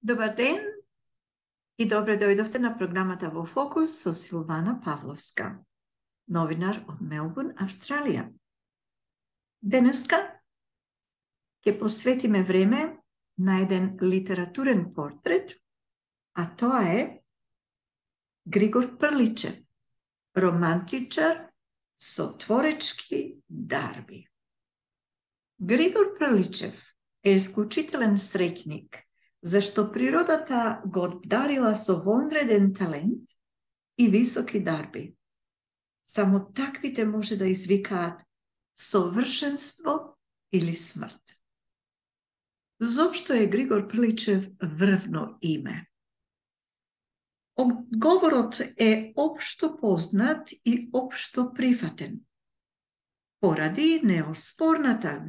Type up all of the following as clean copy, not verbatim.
Добар ден и добре дојдовте на програмата Во фокус со Силвана Павловска, новинар од Мелбурн, Австралија. Денеска ќе посветиме време на еден литературен портрет, а тоа е Григор Прличев, романтичар со творечки дарби. Григор Прличев е исклучителен среќник, зашто природата го обдарила со вонреден талент и високи дарби. Само таквите може да извикаат совршенство или смрт. Зошто е Григор Прличев врвно име? Одговорот е општо познат и општо прифатен. Поради неоспорната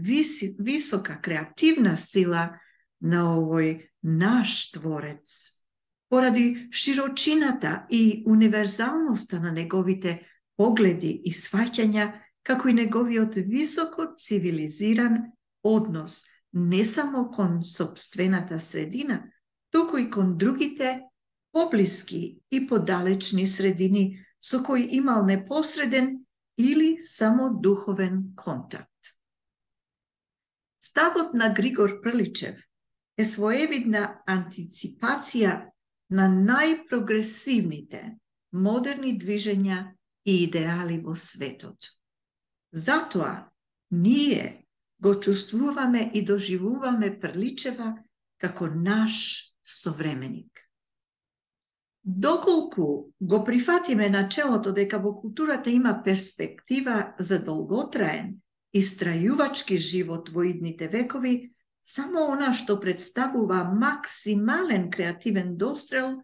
висока креативна сила на овој наш творец, поради широчината и универзалноста на неговите погледи и сваќања, како и неговиот високо цивилизиран однос не само кон сопствената средина, туку и кон другите поблиски и подалечни средини со кои имал непосреден или само духовен контакт. Ставот на Григор Прличев е своевидна антиципација на најпрогресивните модерни движења и идеали во светот. Затоа ние го чувствуваме и доживуваме Прличева како наш современик. Доколку го прифатиме начелото дека во културата има перспектива за долготраен и страјувачки живот во идните векови, само она што представува максимален креативен дострел,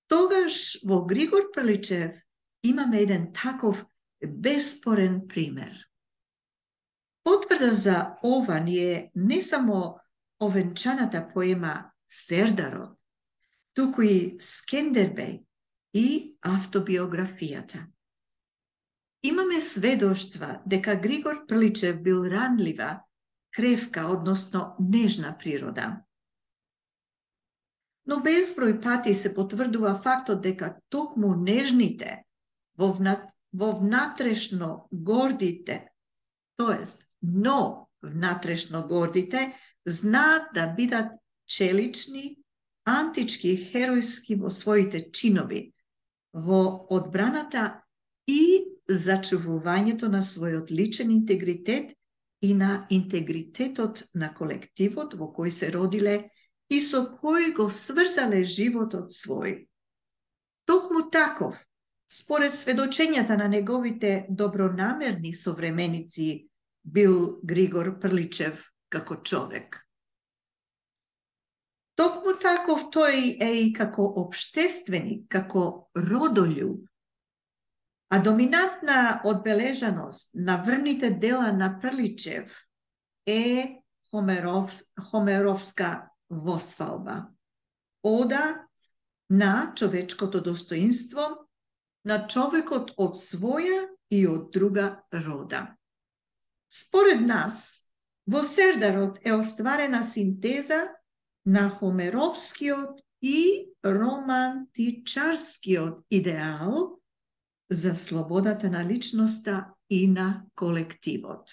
тогаш во Григор Прличев имаме еден таков беспорен пример. Потврда за ова ни е не само овенчаната поема Сердарот, туку и Скендербеј и автобиографијата. Имаме сведоштва дека Григор Прличев бил ранлива, кревка, односно нежна природа. Но безброј пати се потврдува фактот дека токму нежните, во внатрешно гордите, тоест внатрешно гордите, знаат да бидат челични, антички, херојски во своите чинови, во одбраната и зачувувањето на својот личен интегритет и на интегритетот на колективот во кој се родиле и со кој го сврзале животот свој. Токму таков, според сведочењата на неговите добронамерни современици, бил Григор Прличев како човек. Токму таков тој е и како општественик, како родолюб. А доминантна одбележаност на врвните дела на Прличев е Хомеровска восфалба. Ода на човечкото достоинство, на човекот од своја и од друга рода. Според нас, во Сердарот е остварена синтеза на Хомеровскиот и романтичарскиот идеал за слободата на личноста и на колективот.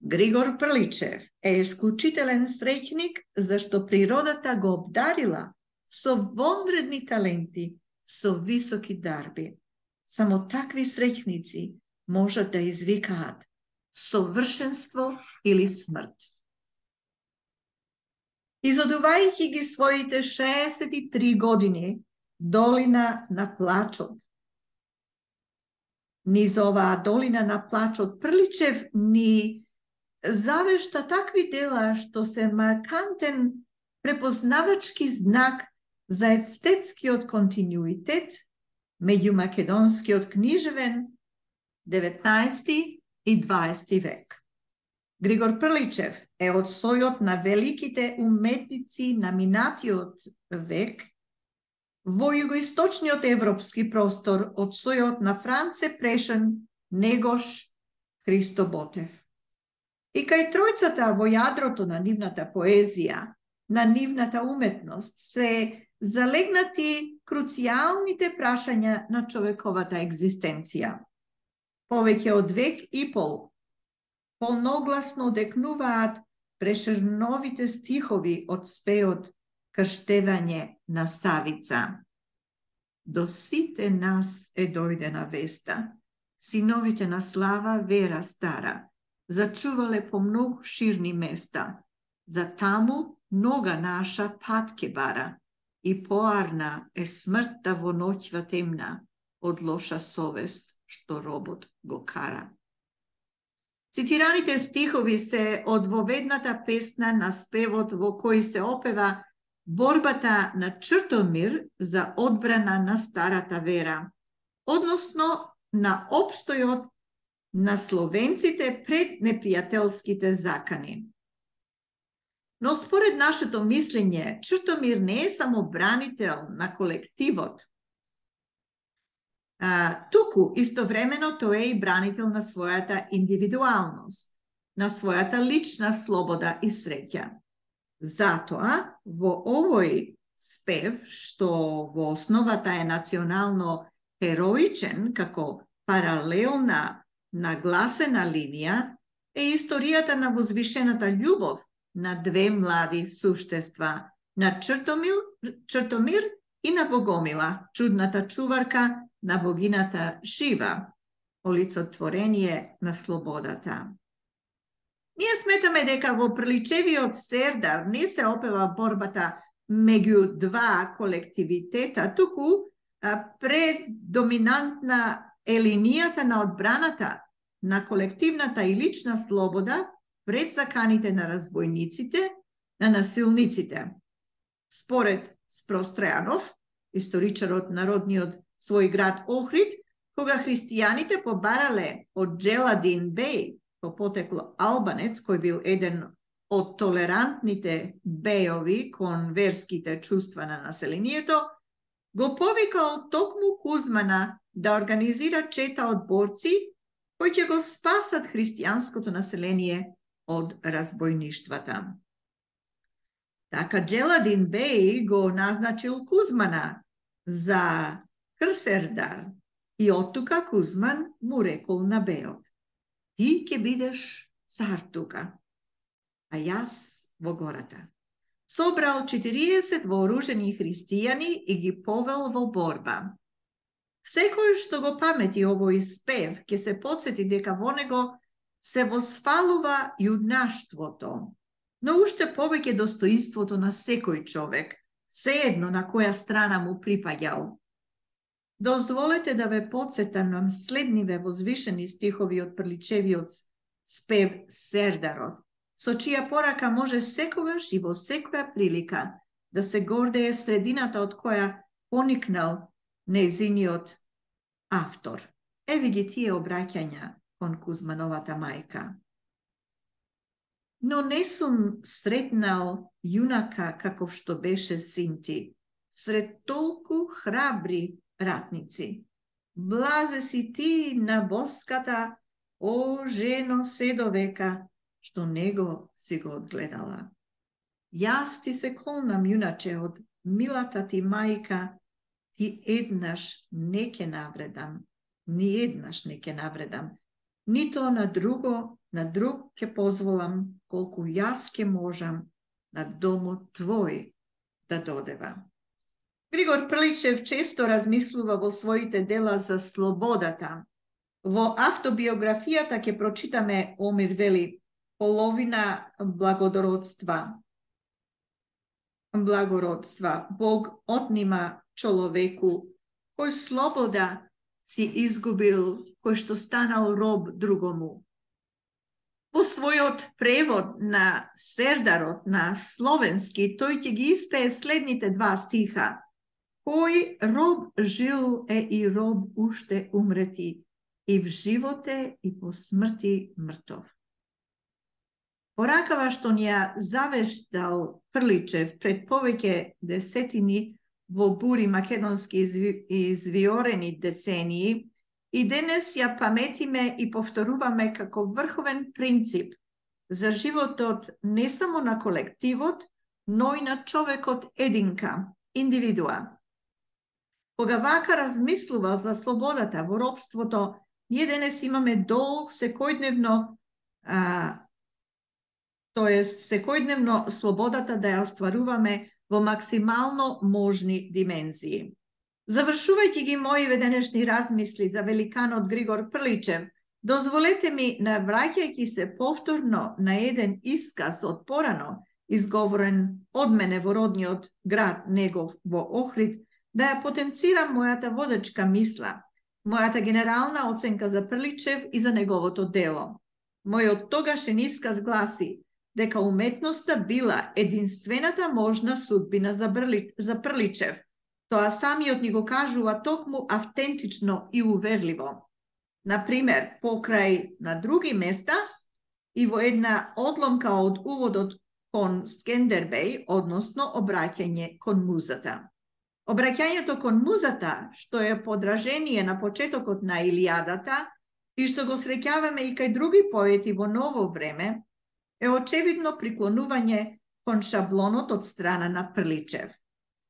Григор Прличев е исклучителен среќник, зашто природата го обдарила со вонредни таленти, со високи дарби. Само такви среќници можат да извикаат совршенство или смрт. Изодувајќи ги своите 63 години долина на плачот, низ оваа долина на плачот Прличев ни завешта такви дела што се маркантен препознавачки знак за естетскиот континуитет меѓу македонскиот книжевен 19 и 20 век. Григор Прличев е од сојот на великите уметници на минатиот век во југоисточниот европски простор, од сојот на Франце Прешен, Негош, Христо Ботев. И кај тројцата во јадрото на нивната поезија на нивната уметност се залегнати круцијалните прашања на човековата екзистенција. Повеќе од век и пол полногласно декнуваат преширновите стихови од спеот Крштевање на Савица. До сите нас е дојдена веста, синовите на слава вера стара, зачувале по многу ширни места, за таму нога наша пат ке бара, и поарна е смртта во ноќва темна, од лоша совест што робот го кара. Цитираните стихови се од воведната песна на спевот во кој се опева борбата на Чртомир за одбрана на старата вера, односно на опстојот на словенците пред непријателските закани. Но според нашето мислење, Чртомир не е само бранител на колективот, туку истовремено тој е и бранител на својата индивидуалност, на својата лична слобода и среќа. Затоа, во овој спев, што во основата е национално хероичен, како паралелна нагласена линија, е историјата на возвишената љубов на две млади суштества, на Чртомир и на Богомила, чудната чуварка на богината Шива, олицетворение на слободата. Ние сметаме дека во приличевиот Сердар не се опева борбата меѓу два колективитета, туку предоминантна е линијата на одбраната на колективната и лична слобода пред заканите на разбойниците, на насилниците. Според Спрос Тројанов, историчарот на родниот свој град Охрид, кога христијаните побарале од Джеладин Беј, по потекло албанец, кој бил еден од толерантните бејови кон верските чувства на населението, го повикал токму Кузмана да организира чета од борци кои ќе го спасат христијанското население од разбойништвата. Така Джеладин Беј го назначил Кузмана за Крсердар и оттука Кузман му рекол на бејот: ти ќе бидеш цар тука, а јас во гората. Собрал 40 вооружени христијани и ги повел во борба. Секој што го памети овој спев, ќе се потсети дека во него се восфалува јунаштвото, но уште повеќе достоинството на секој човек, сеедно на која страна му припаѓал. Дозволете да ве потсетам на следниве возвишени стихови од приличевиот спев Сердарот, со чија порака може секогаш и во секоја прилика да се гордее средината од која поникнал нејзиниот автор. Еви ги тие обраќања кон Кузмановата мајка. Но не сум сретнал јунака каков што беше син ти, сред толку храбри ратници. Блазе си ти на боската, о жено седовека, што него си го одгледала. Јас ти се колнам, јуначе, од милата ти мајка, ти еднаш не ќе навредам, ни еднаш не ќе навредам, нито на друг ќе позволам, колку јас ќе можам на домот твој да додева. Григор Приличев често размислува во своите дела за слободата. Во автобиографијата ќе прочитаме, Омир вели, половина благородства. Бог отнима човеку кој слобода си изгубил, кој што станал роб другому. Во својот превод на Сердарот на словенски, тој ќе ги испее следните два стиха. Кој роб жил е и роб уште умрети, и в животе и по смрти мртов. Поракава што ни ја завештал Приличев пред повеќе десетини во бури македонски извиорени децении, и денес ја паметиме и повторуваме како врховен принцип за животот не само на колективот, но и на човекот единка, индивидуа. Кога вака размислува за слободата во робството, ние денес имаме долг секојдневно, секојдневно слободата да ја остваруваме во максимално можни димензии. Завршувајќи ги мои денешни размисли за великанот Григор Прличев, дозволете ми, навраќајќи се повторно на еден исказ од порано, изговорен од мене во родниот град негов во Охрид, да ја потенцирам мојата водечка мисла, мојата генерална оценка за Прличев и за неговото дело. Мојот тогашен исказ гласи дека уметноста била единствената можна судбина за Прличев. Тоа самиот ни го кажува токму автентично и уверливо. Например, покрај на други места и во една одломка од уводот кон Скендербеј, односно обраќање кон музата. Обраќањето кон музата, што е подражение на почетокот на Илијадата и што го среќаваме и кај други поети во ново време, е очевидно приклонување кон шаблонот од страна на Прличев.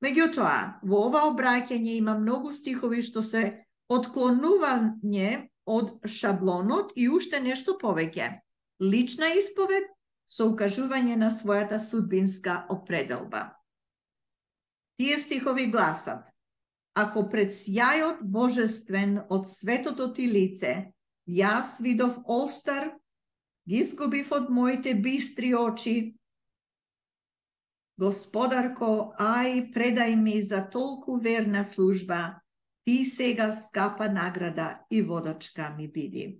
Меѓутоа, во ова обраќање има многу стихови што се отклонување од шаблонот и уште нешто повеќе. Лична исповед со укажување на својата судбинска определба. Тие стихови гласат: ако пред сјајот божествен од светото ти лице, јас видов остар, ги изгубив од моите бистри очи. Господарко, ај, предај ми за толку верна служба, ти сега скапа награда и водачка ми биди.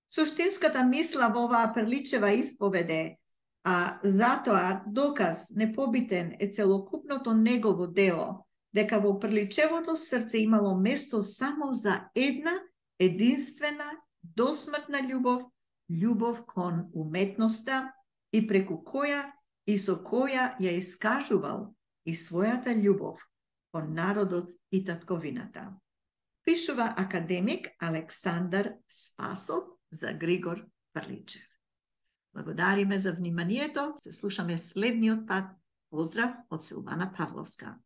Суштинската мисла во оваа Прличева исповеде, а затоа доказ непобитен е целокупното негово дело, дека во Прличевото срце имало место само за една единствена досмртна љубов, љубов кон уметноста и преку која и со која ја искажувал и својата љубов кон народот и татковината. Пишува академик Александар Спасов за Григор Прличев. Благодариме за вниманието. Се слушаме следниот пат. Поздрав од Силвана Павловска.